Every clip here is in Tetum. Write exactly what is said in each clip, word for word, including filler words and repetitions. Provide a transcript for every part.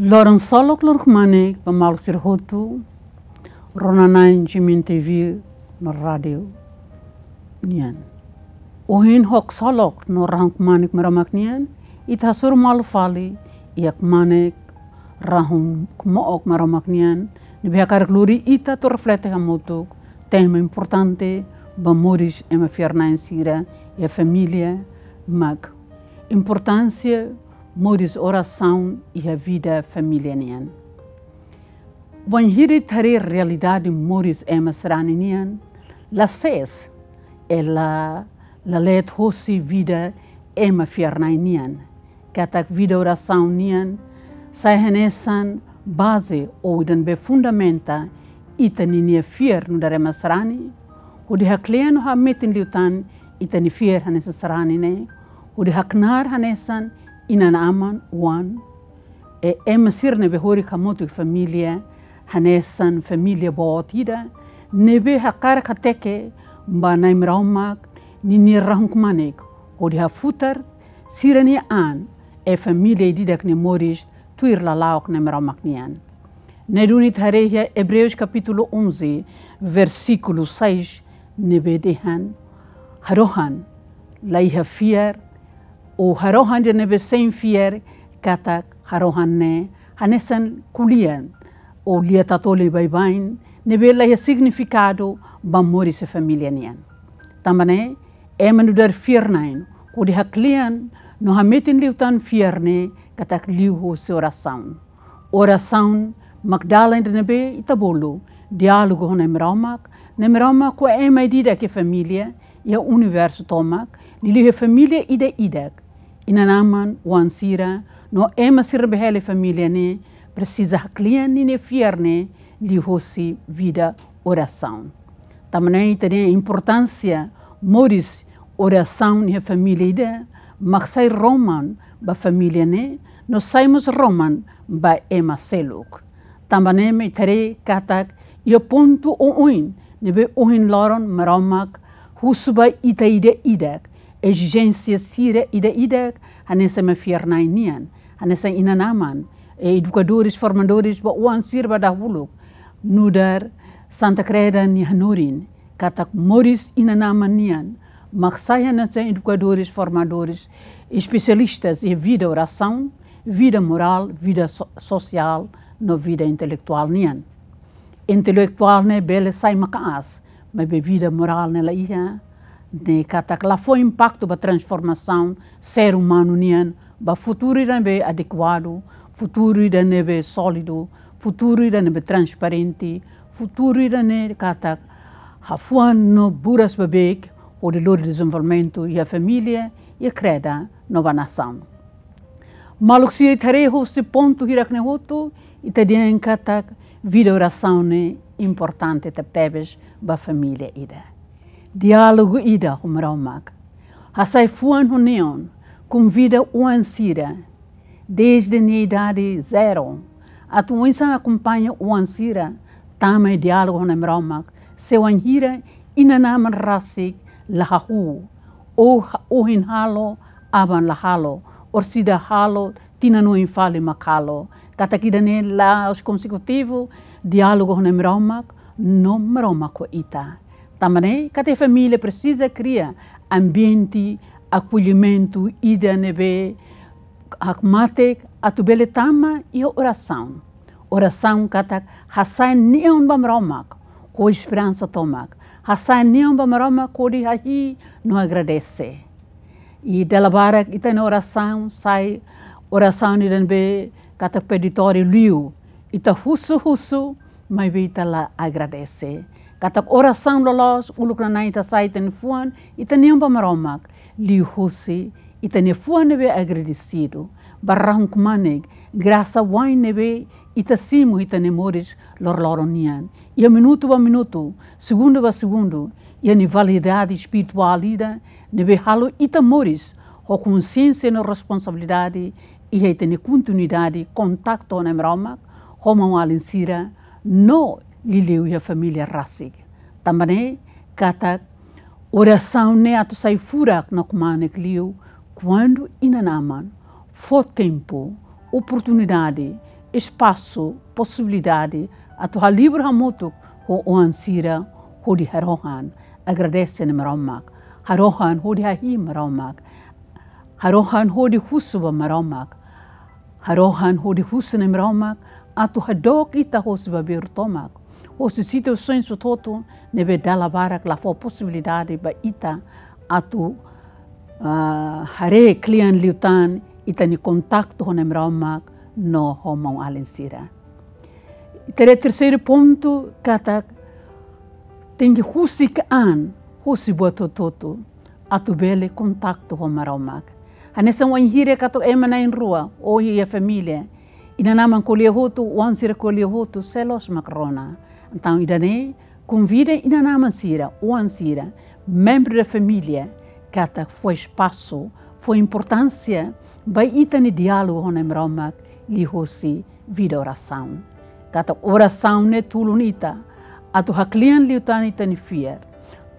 Loron ksolok, loron kmanek ba maluk sira hotu, rona-na'in G M N T V no rádiu nian. Ohin ho ksolok no rahun kmanek Maromak nian, ita hasoru malu fali iha kmanek rahun kmook Maromak nian, ne'ebé hakarak lori ita atu reflete hamutuk tema importante ba moris ema fiar-na'in sira iha família, mak importánsia moris orasaun iha vida família nian. Wainhira ita haree realidade moris ema sarani nian, la sees, ela la leet hosi vida ema fiar-na'in nian. Katak vida orasaun nian sai hanesan baze ou ida ne'ebé fundamenta ita-ninia fiar nu'udar ema sarani, hodi haklean no hametin liután ita-nia fiar hanesan sarani ne'e, hodi haknaar hanesan inan-aman, oan, e ema sira ne'ebé horik hamutuk família, hanesan família boot ida, ne'ebé hakarak hateke ba Na'i Maromak ninia rahun kmanek, hodi hafutar sira-nia an, e família ida-idak nia moris tuir lala'ok Na'i Maromak nian. Ne'e duni ita haree iha Ebreus kapítulu onze, versíkulu seis, ne'ebé dehan: Harohan la iha fiar, ou harohan ida ne'ebé sein fiar, katak harohan ne'e hanesan ko'alia, ou lia-tatoli baibain, ne'ebé la iha signifikadu ba moris iha família nian. Tanba ne'e, ema nu'udar fiar-na'in, hodi haklean no hametin liután fiar ne'e katak liuhosi orasaun. Orasaun mak dalan ida ne'ebé ita bolu diálogu ho Na'i Maromak, Na'i Maromak ho ema ida-idak iha família iha universu tomak, liuliu iha família ida-idak, inan-aman, oan sira, no ema sira ne'ebé hela iha família ne'e, presiza haklean ninia fiar ne'e liuhosi vida orasaun. Tanba ne'e ita-nia importánsia moris orasaun iha família ida mak sai roman ba família ne'e, no sai mós roman ba ema seluk. Tanba ne'e mak ita haree katak iha pontu oioin ne'ebé ohin loron Maromak husu ba ita ida-idak, ezijénsia sira ida-idak, hanesan ema fiar-na'in nian, hanesan inan-aman, e edukadores, formadores ba oan sira ba dahuluk, nu'udar Santa Kreda nia hanorin, katak moris inan-aman nian mak sai hanesan edukadores, formadores, espesialistas iha vida orasaun, vida morál, vida so-, sosiál, no vida intelektuál nian. Intelektuál ne'e bele sai maka'as, maibé vida morál ne'e la iha, ne'e katak la fó impaktu ba transformasaun ser umanu nian ba futuru ida ne'ebé adekuadu, futuru ida ne'ebé sólidu, futuru ida ne'ebé transparente, futuru ida ne'e katak hafuan no buras beibeik hodi lori dezenvolvimentu iha família, iha kreda no ba nasaun. Maluk sira, ita haree husi pontu hirak ne'e hotu, ita dehan katak vida orasaun ne'e importante tebetebes ba família ida. Diálogu ida ho Maromak. Hasai fuan ho neon, konvida oan sira, desde nia idade zero, atu oinsá akompaña oan sira tama iha diálogu ho Na'i Maromak, se wainhira inan-aman rasik la hahú, ou ha-, ohin halo, aban la halo, orsida halo, tinan oin fali mak halo. Katak ida-ne'e la'ós konsekutivu diálogu ho Na'i Maromak, no Maromak ho ita. Tanba ne'e, katak família presiza kria ambiente akollimentu ida ne'ebé hakmatek atu bele tama iha orasaun. Orasaun katak hasai neon ba Maromak ho esperansa tomak. Hasai neon ba Maromak hodi hahi'i no agradese. I dala barak ita-nia orasaun sai orasaun ida ne'ebé katak peditóriu liu. Ita husu-husu, maibé ita la agradese. Katak orasaun loloos, uluk nanain ita hasai ita-nia fuan, ita neon ba Maromak, liuhosi ita-nia fuan ne'ebé agradesidu ba rahun-kmanek, grasa wa'in ne'ebé ita simu iha ita-nia moris loroloron nian. Iha minutu ba minutu, segundu ba segundu, iha nia validade espirituál ida ne'ebé halo ita moris ho konsiénsia no responsabilidade iha ita-nia kontinuidade kontaktu ho Na'i Maromak, ho maun-alin sira, no liuliu iha família rasik. Tanba ne'e katak orasaun ne'e atu sai furak no kmanek liu kuandu inan-aman fó tempu, oportunidade, espasu, posibilidade atu halibur hamutuk ho oan sira hodi harohan agradese Nai Maromak, harohan hodi hahi'i Maromak, harohan hodi husu ba Maromak, harohan hodi husu Nai Maromak atu hadook ita hosi babeuru tomak, hosi situasaun hotu-hotu ne'ebé dala barak la fó posibilidade ba ita atu, ah, haree kle'an liután ita-nia kontaktu ho Nai Maromak no ho maun-alin sira. Ita haree terseiru pontu katak tenke husik an hosi buat hotu-hotu atu bele kontaktu ho Maromak. Hanesan wainhira katak ema na'in-rua, ou iha família, inan-aman ko'alia hotu, oan sira ko'alia hotu, sei loos mak rona. Entaun ida-ne'e konvida inan-aman sira, oan sira, membru da família, katak fó espasu, fó importánsia ba ita-nia diálogu ho Nai Maromak liuhosi vida orasaun. Katak orasaun ne'e tulun ita atu hakle'an liután ita-nia fiar.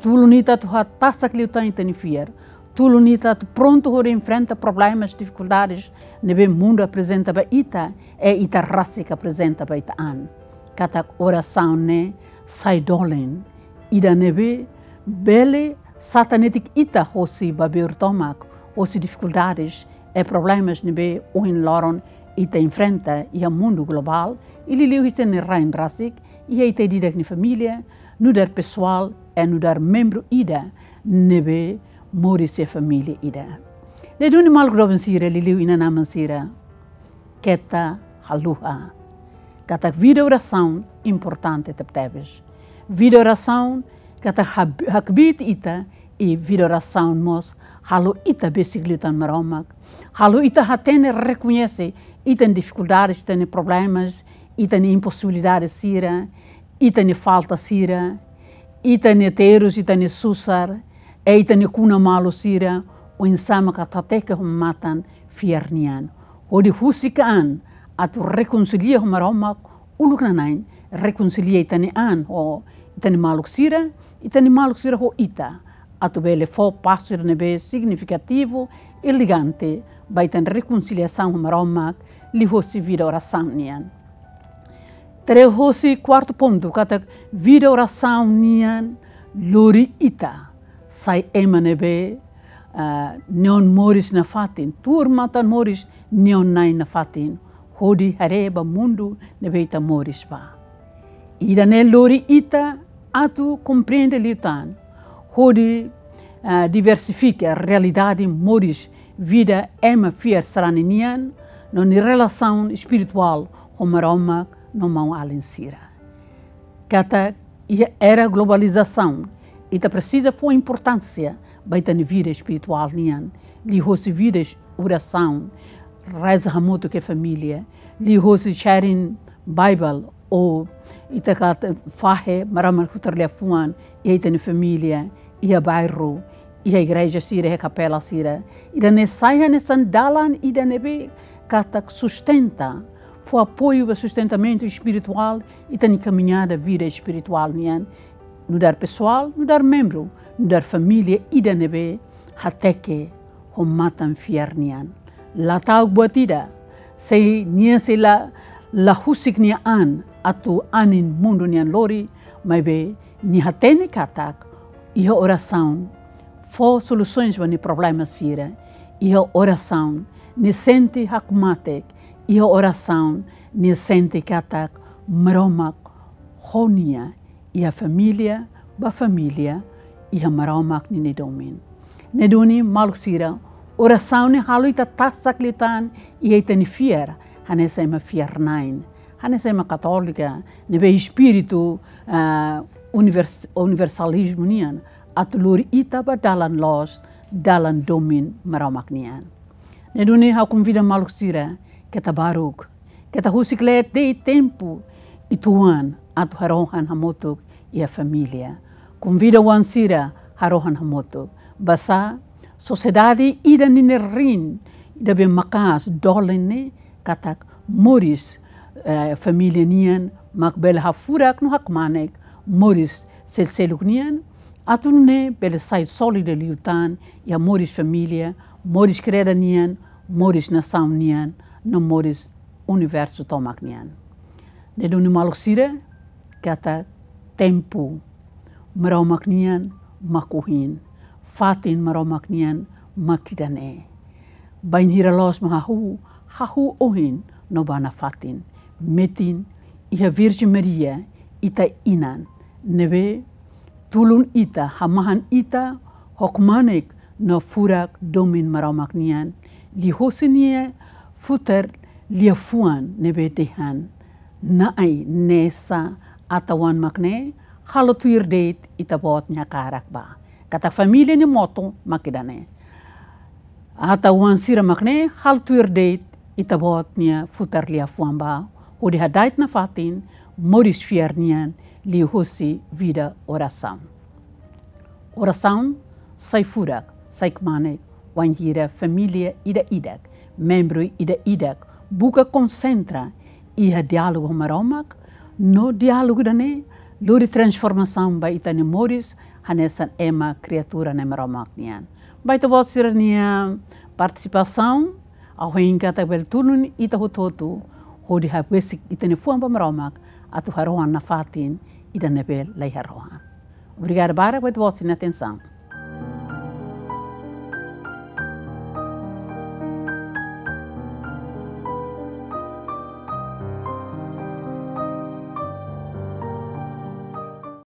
Tulun ita atu hatasak liután ita-nia fiar. Tulun ita atu prontu hodi enfrenta problemas, difikuldades ne'ebé mundu aprezenta ba ita, i ita rasik aprezenta ba ita an. Katak orasaun ne'e sai dolen ida ne'ebé bele satan netik ita hosi babeuru tomak, hosi difikuldades i problemas ne'ebé ohin loron ita enfrenta iha mundu globál, i liuliu ita-nia rain rasik, iha ita ida-idak nia família, nu'udar pesoál, i nu'udar membru ida ne'ebé moris iha família ida. Ne'e duni maluk doben sira, liuliu inan-aman sira, keta haluha katak vida orasaun importante tebetebes. Vida orasaun katak hab-, hakbiit ita, i vida orasaun mós halo ita besik liután Maromak. Halo ita hatene, rekoñese ita-nia difikuldades, ita-nia problemas, ita-nia imposibilidade sira, ita-nia falta sira, ita-nia terus, ita-nia susar, i ita-nia kuna malu sira, oinsá mak atu hateke ho matan fiar nian. Hodi husik an atu rekonsilia ho Maromak uluk nana'in, rekonsilia ita-nia an ho ita-nia maluk sira, ita-nia maluk sira ho ita, atu bele fó pasu ida ne'ebé signifikativu, elegante, ba ita-nia rekonsiliasaun ho Maromak liuhosi vida orasaun nian. Ita haree hosi kuartu pontu, katak vida orasaun nian lori ita sai ema ne'ebé, ah, nia oan moris nafatin, tuur matan moris nia oan-na'in nafatin, hodi haree ba mundu ne'ebé ita moris ba. Ida-ne'e lori ita atu komprende liután hodi, ah, diversifika realidade moris vida ema fiar sarani nian, no nia relasaun espirituál ho Maromak no maun-alin sira. Katak iha era globalizasaun, ita presiza fó importánsia ba ita-nia vida espirituál nian, liuhosi vida es-, orasaun, reza hamutuk ho família, liuhosi sharing Bible, ou ita katak fahe Maromak nia futar liafuan iha ita-nia família, iha bairru, iha igreja sira, iha kapela sira. Ida-ne'e sai hanesan dalan ida ne'ebé katak sustenta, fó apoiu ba sustentamentu espirituál ita-nia kamiñada vida espirituál nian, nu'udar pesoál, nu'udar membru, nu'udar família ida ne'ebé hateke ho matan fiar nian. La ta'uk buat ida, se nia sei la, la husik nia an atu anin mundu nian lori, maibé nia hatene katak iha orasaun fó solusaun ba nia problema sira. Iha orasaun nia sente hakmatek. Iha orasaun nia sente katak Maromak ho nia, iha família ba família, iha Maromak ninia domin. Ne'e duni maluk sira, orasaun ne'e halo ita tasak liután iha ita-nia fiar, hanesan ema fiar-na'in, hanesan ema katólika, ne'ebé espíritu, ah, univers-, universalizmu nian, atu lori ita ba dalan loos, dalan domin Maromak nian. Ne'e duni ha'u konvida maluk sira, keta baruk, keta husik kleet de'it tempu uitoan atu harohan hamutuk iha família. Konvida oan sira harohan hamutuk. Basá sosiedade ida ninia riin, ida be maka'as dolen ne'e katak moris, eh, família nian mak bele hafurak no hakmanek moris sel-, seluk nian, atu nune'e bele sai sólidu liután iha moris família, moris kreda nian, moris nasaun nian, no moris universu tomak nian. Ne'e duni maluk sira, katak tempu Maromak nian mak ohin, fatin Maromak nian mak ida-ne'e. Bainhira loos mak hahú, hahú ohin no ba nafatin. Metin iha Virjen Maria, ita inan, ne'ebé tulun ita, hamahan ita ho kmanek no furak domin Maromak nian, liuhosi nia futar liafuan ne'ebé dehan: Na'i, ne'e sá, atan-oan mak ne'e, halo tuir de'it ita-boot nia hakarak bá. Katak família nia moto mak ida-ne'e. Atan-oan sira mak ne'e, halo tuir de'it ita-boot nia futar liafuan bá, hodi hada'et nafatin moris fiar nian liuhosi vida orasaun. Orasaun sai furak, sai kmanek, wainhira família ida-idak, membru ida-idak, buka konsentra iha diálogu ho Maromak, no diálogu ida-ne'e lori transformasaun ba ita-nia moris hanesan ema kriatura Nai Maromak nian. Ba ita-boot sira-nia partisipasaun, ha'u hein katak bele tulun ita hotu-hotu hodi habesik ita-nia fuan ba Maromak atu harohan nafatin ida ne'ebé la iha rohan. Obrigada barak ba ita-boot sira-nia atensaun.